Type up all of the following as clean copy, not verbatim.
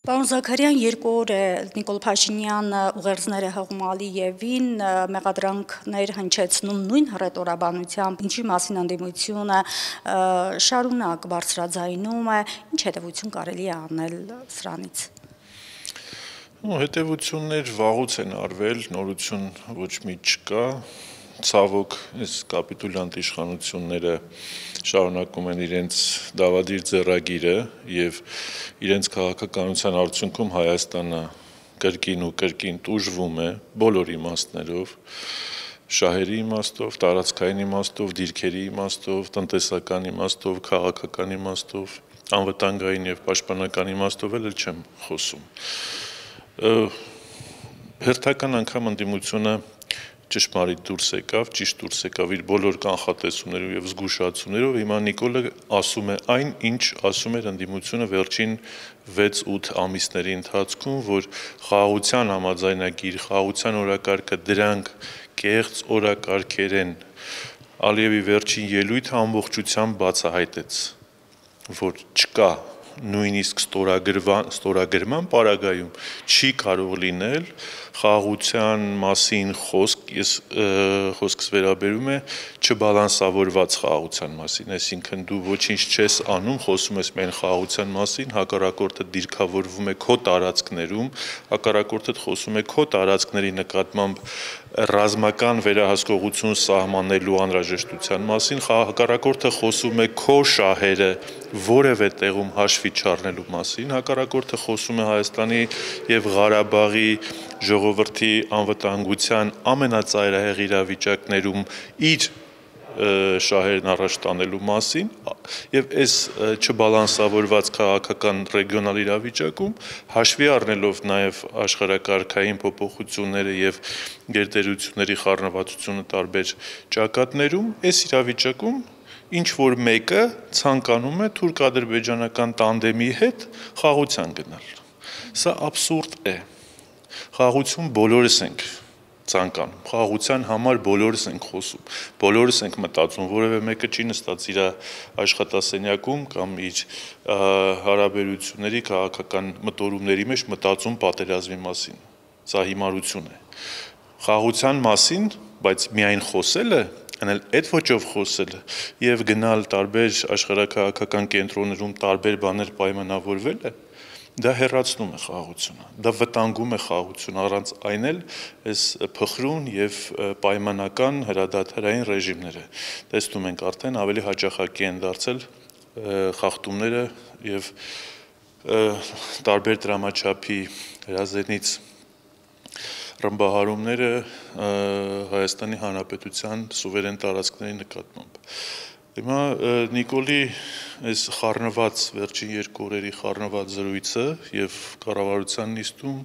Պարոն Զաքարյան, 2 օր է Նիկոլ Փաշինյանը ուղերձներ է հղում Ալիևին, մեղադրանքներ հնչեցնում նույն հռետորաբանությամբ, ինչի մասին ընդդիմությունը շարունակ բարձրաձայնում է, ինչ հետևություն կարելի է անել սրանից։ Հետևություններ վաղուց են արվել, նորություն ոչ մի չկա, ցավոք այս կապիտուլյանտ իշխանությունները շարունակում են իրենց դավադիր ձեռագիրը եւ իրենց քաղաքականության արդյունքում Հայաստանը կրկին ու կրկին տուժվում է բոլոր իմաստներով, շահերի իմաստով, տարածքային իմաստով, դիրքերի իմաստով, տնտեսական իմաստով, քաղաքական իմաստով, անվտանգային եւ պաշտպանական իմաստով էլ չեմ խոսում։ Հերթական անգամ ընդդիմությունը ճշմարիտ դուրս եկավ իր բոլոր կանխատեսումներով եւ զգուշացումներով, հիմա Նիկոլը ասում է այն, ինչ ասում էր ընդդիմությունը վերջին 6-8 ամիսների ընթացքում, որ խաղաղության համաձայնագիր, խաղաղության օրակարգը դրանք կեղծ օրակարգեր են։ Ալիևի վերջին ելույթը ամբողջությամբ բացահայտեց, որ չկա նույնիսկ ստորագրման պարագայում չի կարող լինել խաղաղության մասին խոսք, ես խոսքս վերաբերում է չբալանսավորված խաղաղության մասին, այսինքն դու ոչինչ չես անում, խոսում ես միայն խաղաղության մասին, հակառակորդը դիրքավորվում է քո տարածքներում, հակառակորդդ խոսում է քո տարածքների նկատմամբ ռազմական վերահսկողություն սահմանելու անհրաժեշտության մասին, հակառակորդը խոսում է քո շահերը որևէ տեղում հաշվի չառնելու մասին, հակառակորդը խոսում է Հայաստանի եւ Ղարաբաղի ժողովրդի անվտանգության ամենածայրահեղ իրավիճակներում իր շահերն առաջ տանելու մասին եւ այս չբալանսավորված քաղաքական ռեգիոնալ իրավիճակում հաշվի առնելով նաեւ աշխարհակարգային փոփոխությունները եւ գերտերությունների խառնվածությունը տարբեր ճակատներում, այս իրավիճակում ինչ որ մեկը ցանկանում է թուրք-ադրբեջանական տանդեմի հետ խաղաղության գնալ։ Սա աբսուրդ է։ Խաղաղություն բոլորս ենք ցանկանում, խաղաղության համար բոլորս ենք խոսում, բոլորս ենք մտածում, որևէ մեկը չի նստած իր աշխատասենյակում կամ իր հարաբերությունների քաղաքական մտորումների մեջ մտածում պատերազմի մասին։ Սա հիմարություն է։ Խաղաղության մասին, բայց միայն խոսելը, անել այդ ոճով խոսելը եւ գնալ տարբեր աշխարհակաղակական կենտրոններում տարբեր բաներ պայմանավորվելը, դա հեռացնում է խաղաղությունը, դա վտանգում է խաղաղությունը, առանց այն էլ այս փխրուն եւ պայմանական հրադադարային ռեժիմները տեսնում ենք արդեն ավելի հաճախակի են դարձել խախտումները եւ տարբեր դրամաչափի հրազենից ռմբահարումները Հայաստանի Հանրապետության սուվերեն տարածքների նկատմամբ։ Հիմա Նիկոլի այս խառնված վերջին 2 օրերի խառնված զրույցը եւ կառավարության նիստում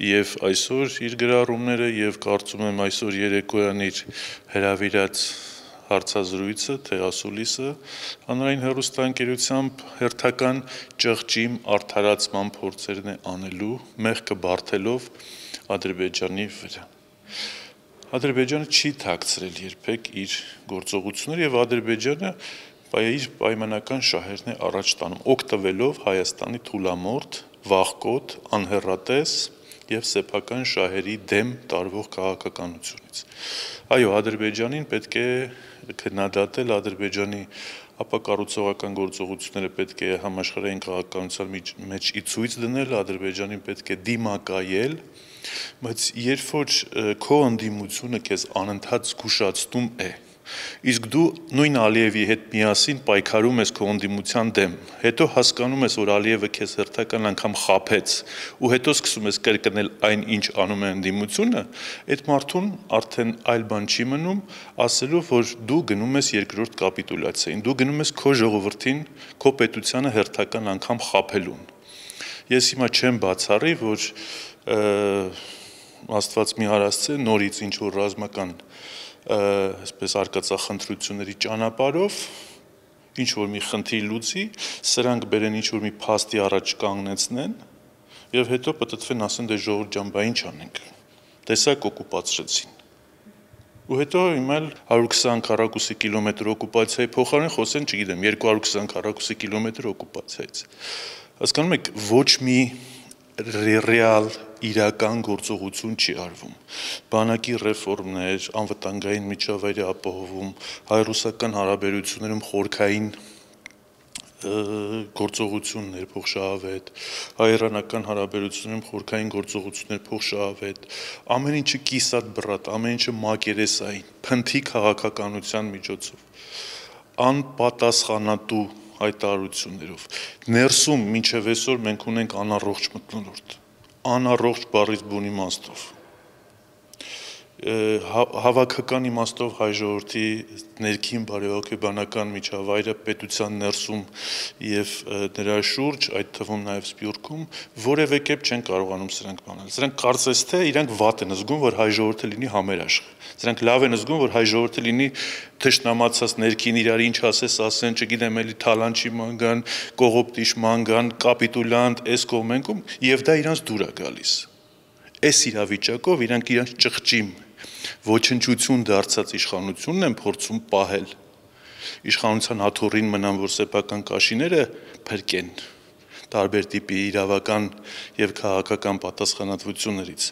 եւ այսօր իր գրառումները եւ կարծում եմ այսօր երեկոյան իր հրավիրած հարցազրույցը թե ասուլիսը հանրային հեռուստաընկերությամբ հերթական ճղճիմ արդարացման փորձերն է անելու մեղքը բարթելով Ադրբեջանի վրա։ Ադրբեջանը չի թաքցրել երբեք իր գործողությունները եւ Ադրբեջանը իր պայմանական շահերն է առաջ տանում, օգտվելով Հայաստանի թուլամորթ, վախկոտ, անհեռատես եւ սեփական շահերի դեմ տարվող քաղաքականությունից։ Այո, Ադրբեջանին պետք է քննադատել, Ադրբեջանի ապակառուցողական գործողությունները պետք է համաշխարհային քաղաքականության մեջ ի ցույց դնել, Ադրբեջանին պետք է դիմակայել, բայց երբ որ քո ընդդիմությունը քեզ անընդհատ զգուշացնում է, իսկ դու նույն Ալիևի հետ միասին պայքարում ես քո ընդդիմության դեմ, հետո հասկանում ես, որ Ալիևը քեզ հերթական անգամ խաբեց, ու հետո սկսում ես կրկնել այն, ինչ անում է ընդդիմությունը, այդ մարդուն արդեն այլ բան չի մնում, ասելով, որ դու գնում ես երկրորդ կապիտուլյացիային, դու գնում ես քո ժողովրդին, քո պետությանը հերթական անգամ խաբելուն։ Ես հիմա չեմ բացառի, որ Աստված մի հարասցե նորից ինչ որ ռազմական այսպես արկածախնդրությունների ճանապարհով ինչ որ մի խնդիր լուծի, սրանք բերեն ինչ որ մի փաստի առաջ կանգնեցնեն եւ հետո պատտվեն ասեն դե ժողովուրդ ջան, բա ինչ անենք։ Տեսակ օկուպացրեցին։ Ու հետո հիմա 120 քառակուսի կիլոմետր օկուպացիայի փոխարեն խոսեն, չգիտեմ, 220 քառակուսի կիլոմետր օկուպացիայից։ Հասկանում եք, ոչ մի ռեալ իրական գործողություն չի արվում։ Բանակի ռեֆորմներ, անվտանգային միջավայրի ապահովում, հայ-ռուսական հարաբերություններում խորքային գործողություններ փոխշահավետ, հայ-իրանական հարաբերություններում խորքային գործողություններ փոխշահավետ, ամեն ինչը կիսատ բռատ, ամեն ինչը մակերեսային, փնթի քաղաքականության միջոցով, անպատասխանատու հայտարարություններով։ Ներսում մինչև այսօր մենք ունենք անառողջ մթնոլորտ, անառողջ բառից բուն իմաստով։ Հավաքական իմաստով հայ ժողովրդի ներքին բարեհոգեբանական միջավայրը պետության ներսում եւ նրա շուրջ, այդ թվում նաեւ Սփյուռքում, որևէ կերպ չեն կարողանում սրանք բանել։ Սրանք կարծես թե իրանք վատ են զգում, որ հայ ժողովուրդը լինի համերաշխ։ Սրանք լավ են զգում, որ հայ ժողովուրդը լինի թշնամացած ներքին իրար ինչ ասես ասեն, չգիտեմ, էլի թալանչի մանգան, կողոպտիչ մանգան, կապիտուլանտ, էս կողմենքում, եւ դա իրանց դուր է գալիս։ Այս իրավիճակով իրանք իրանք ճղճիմ ոչնչություն դարձած իշխանությունն են փորձում պահել։ Իշխանության հաթոռին մնան, որ սեփական կաշիները փրկեն տարբեր տիպի իրավական եւ քաղաքական պատասխանատվություններից,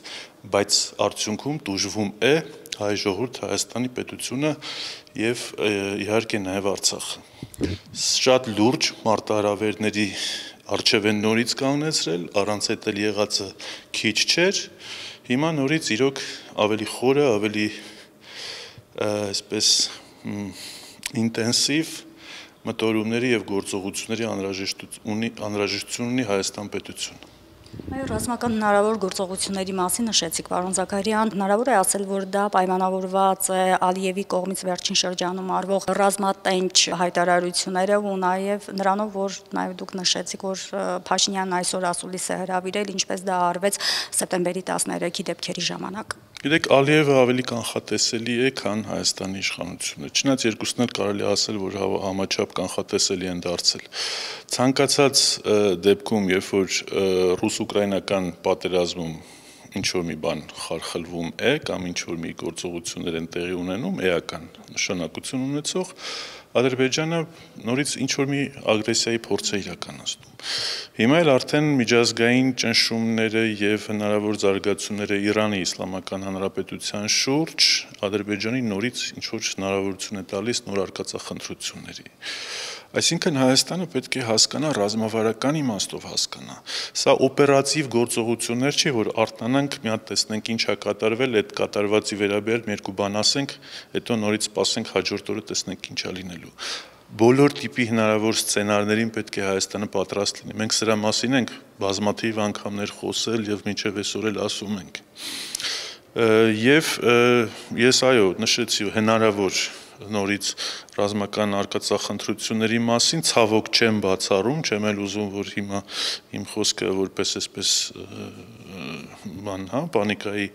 բայց արդյունքում դժվում է հայ ժողովուրդ, Հայաստանի պետությունը եւ իհարկե նաեւ Արցախը։ Շատ լուրջ մարտահրավերների առջև են նորից կանգնեցրել, առանց այդ էլ եղածը քիչ չէր։ Հիմա նորից իրոք ավելի խորը, ավելի այսպես ինտենսիվ մտորումների եւ գործողությունների անհրաժեշտություն ունի Հայաստան պետությունը։ Այո, ռազմական հնարավոր գործողությունների մասին նշեցիք, պարոն Զաքարյան, հնարավոր է ասել, որ դա պայմանավորված է Ալիևի կողմից վերջին շրջանում արվող ռազմատենչ հայտարարությունները ու նաև նրանով, որ նաև դուք նշեցիք, որ Փաշինյանն այսօր ասուլիս է հրավիրել, ինչպես դա արվեց սեպտեմբերի 13-ի դեպքերի ժամանակ։ Գիտեք, Ալիևը ավելի կանխատեսելի է, քան Հայաստանի իշխանությունը։ Չնայած երկուսն էլ կարելի ասել, որ համաչափ կանխատեսելի են դարձել։ Ցանկացած դեպքում, երբ որ ռուս-ուկրաինական պատերազմում ինչ-որ մի բան խարխլվում է կամ ինչ-որ մի գործողություններ են տեղի ունենում, էական նշանակություն ունեցող, Ադրբեջանը նորից ինչ-որ մի ագրեսիայի փորձ է իրականացնում։ Հիմա էլ արդեն միջազգային ճնշումները եւ հնարավոր զարգացումները Իրանի Իսլամական Հանրապետության շուրջ Ադրբեջանի նորից ինչ-որ հնարավորություն է տալիս նոր արկածախնդրությունների։ Այսինքն Հայաստանը պետք է հասկանա ռազմավարական իմաստով հասկանա։ Սա օպերատիվ գործողություններ չի, որ արտանանք, մի հատ տեսնենք ինչ է կատարվել, այդ կատարվածի վերաբերյալ մի երկու բան ասենք, հետո նորից սպասենք հաջորդ օրը տեսնենք ինչ է լինելու։ Բոլոր տիպի հնարավոր սցենարներին պետք է Հայաստանը պատրաստ լինի։ Մենք սրա մասին ենք բազմաթիվ անգամներ խոսել եւ մինչեւ այսօր էլ ասում ենք։ Եվ ես այո, նշեցի հնարավոր նորից ռազմական արկածախնդրությունների մասին ցավոք չեմ բացառում, չեմ էլ ուզում, որ հիմա իմ խոսքը որպես այսպես բան, պանիկայի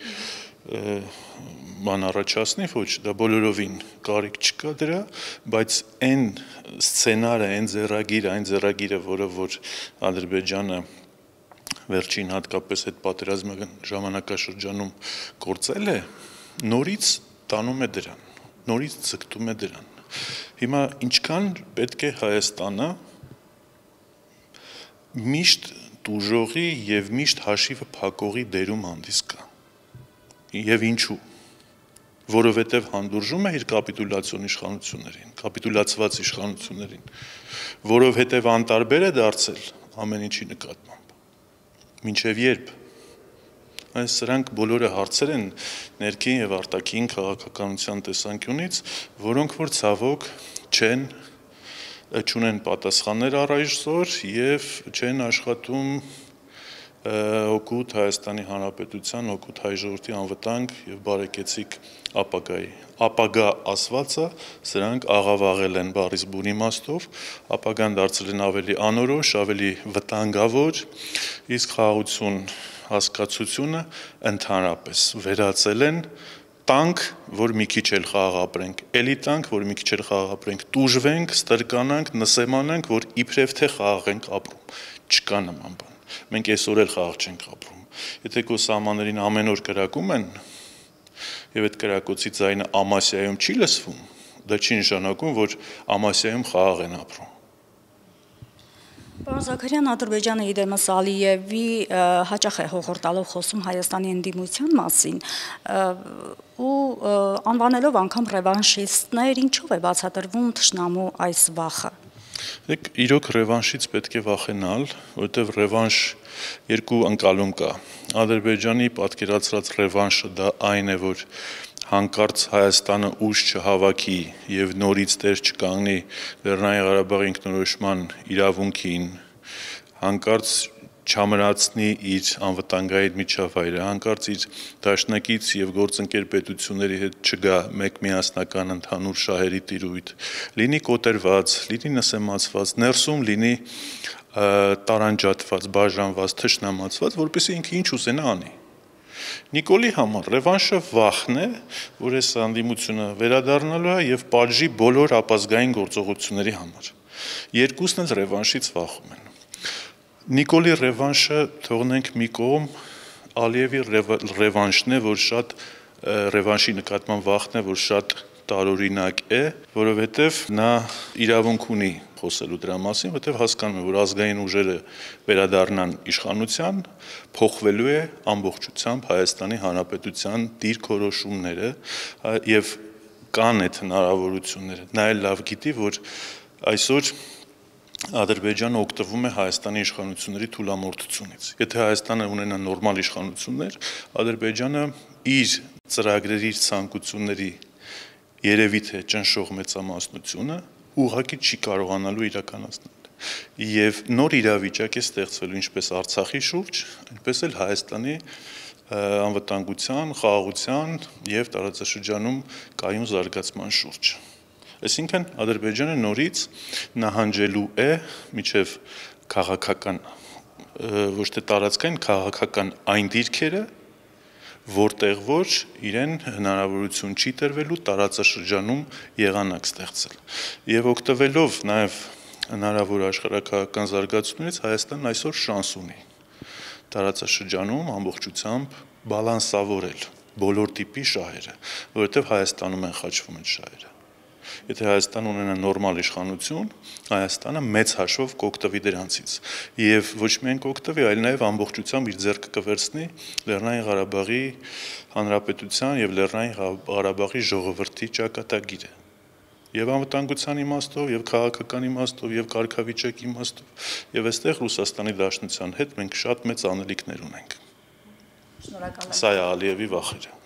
բան առաջացնի, ոչ, դա բոլորովին կարիք չկա դրա, բայց այն սցենարը, այն ձեռագիրը, որը որ Ադրբեջանը վերջին հատկապես այդ պատերազմական ժամանակաշրջանում գործել է, նորից տանում է դրան, նորից ձգտում է դրան։ Հիմա ինչքան պետք է Հայաստանը միշտ տուժողի եւ միշտ հաշիվը փակողի դերում հանդիսկա։ Եվ ինչու։ Որովհետև հանդուրժում է իր կապիտուլյացիոն իշխանություններին, կապիտուլացված իշխանություններին, որովհետև անտարբեր է դարձել ամեն ինչի նկատմամբ։ Մինչև երբ։ Այս սրանք բոլորը հարցեր են ներքին եւ արտաքին քաղաքականության տեսանկյունից, որոնք որ ցավոք չունեն պատասխաններ առայժմ եւ չեն աշխատում օգուտ Հայաստանի Հանրապետության, օգուտ հայ ժողովրդի անվտանգ եւ բարեկեցիկ ապագայի։ Ապագա ասվածը սրանք աղավաղել են բառից բուն իմաստով, ապագան դարձել են ավելի անորոշ, ավելի վտանգավոր, իսկ խաղաղություն հասկացությունը ընդհանրապես վերածել են տանք, որ մի քիչ էլ խաղաղ ապրենք, էլի տանք, որ մի քիչ էլ խաղաղ ապրենք, տուժվենք, ստրկանանք, նսեմանանք, որ իբրև թե խաղաղ ենք ապրում։ Չկա նման բան։ Մենք այսօր էլ խաղաղ չենք ապրում։ Եթե քո սահմաններին ամեն օր կրակում են, Եվ այդ կրակոցի ձայնը Ամասիայում չի լսվում, դա չի նշանակում, որ Ամասիայում խաղաղ են ապրում։ Պարոն Զաքարյան, Ադրբեջանը իդեմս Ալիևի հաճախ է հողորտալով խոսում Հայաստանի ընդդիմության մասին ու անվանելով անգամ ռևանշիստներ, ինչով է բացատրվում թշնամու այս վախը։ Իրոք ռևանշից պետք է վախենալ, որովհետև ռևանշ երկու ընկալում կա։ Ադրբեջանի պատկերացրած ռևանշը դա այն է, որ հանկարծ Հայաստանը ուժ չհավաքի եւ նորից դեր չկանգնի Լեռնային Ղարաբաղի ինքնորոշման իրավունքին, հանկարծ չամրացնի իր անվտանգային միջավայրը, հանկարծ իր դաշնակից եւ գործընկեր պետությունների հետ չգա մեկ միասնական ընդհանուր շահերի տիրույթ, լինի կոտրված, լինի նսեմացված, ներսում լինի տարանջատված, բաժանված, թշնամացված, որպեսզի ինքը ինչ ուզենա անի։ Նիկոլի համար ռևանշը վախն է, որ այս հանդիմությունը վերադառնալու է եւ պատժի բոլոր ապազգային գործողությունների համար։ Երկուսն էլ ռևանշից վախում են։ Նիկոլի ռևանշը թողնենք մի կողմ, Ալիևի ռևանշն է, որ շատ ռևանշի նկատմամբ վախն է, որ շատ տարօրինակ է, որովհետև նա իրավունք ունի խոսելու դրա մասին, որովհետև հասկանում է, որ ազգային ուժերը վերադառնան իշխանության, փոխվելու է ամբողջությամբ Հայաստանի Հանրապետության դիրքորոշումները եւ կան այդ հնարավորությունները։ Նա էլ լավ գիտի, որ այսօր Ադրբեջանը օգտվում է Հայաստանի իշխանությունների թուլամորթությունից։ Եթե Հայաստանը ունենա նորմալ իշխանություններ, Ադրբեջանը իր ծրագրերի, իր ցանկությունների երևի թե ճնշող մեծամասնությունը ուղղակի չի կարողանալու իրականացնել։ Եվ նոր իրավիճակ է ստեղծվելու ինչպես Արցախի շուրջ, այնպես էլ Հայաստանի անվտանգության, խաղաղության եւ տարածաշրջանում կայուն զարգացման շուրջ։ Այսինքն Ադրբեջանը նորից նահանջելու է միջև քաղաքական, ոչ թե տարածքային, քաղաքական այն դիրքերը, որտեղ որ իրեն հնարավորություն չի տրվելու տարածաշրջանում եղանակ ստեղծել։ Եվ օգտվելով նաև հնարավոր աշխարհաքաղաքական զարգացումներից Հայաստանն այսօր շանս ունի տարածաշրջանում ամբողջությամբ բալանսավորել բոլոր տիպի շահերը, որովհետև Հայաստանում են խաչվում այդ շահերը։ Եթե Հայաստանը ունենա նորմալ իշխանություն, Հայաստանը մեծ հաշվով կօգտվի դրանցից եւ ոչ միայն կօգտվի, այլ նաեւ ամբողջությամբ իր ձեռքը կվերցնի Լեռնային Ղարաբաղի Հանրապետության եւ Լեռնային Ղարաբաղի ժողովրդի ճակատագիրը։ Եվ անվտանգության իմաստով, եւ քաղաքական իմաստով, եւ կարգավիճակի իմաստով, եւ այստեղ Ռուսաստանի Դաշնության հետ մենք շատ մեծ անելիքներ ունենք։ Շնորհակալ եմ։ Սա է Ալիևի վախերը։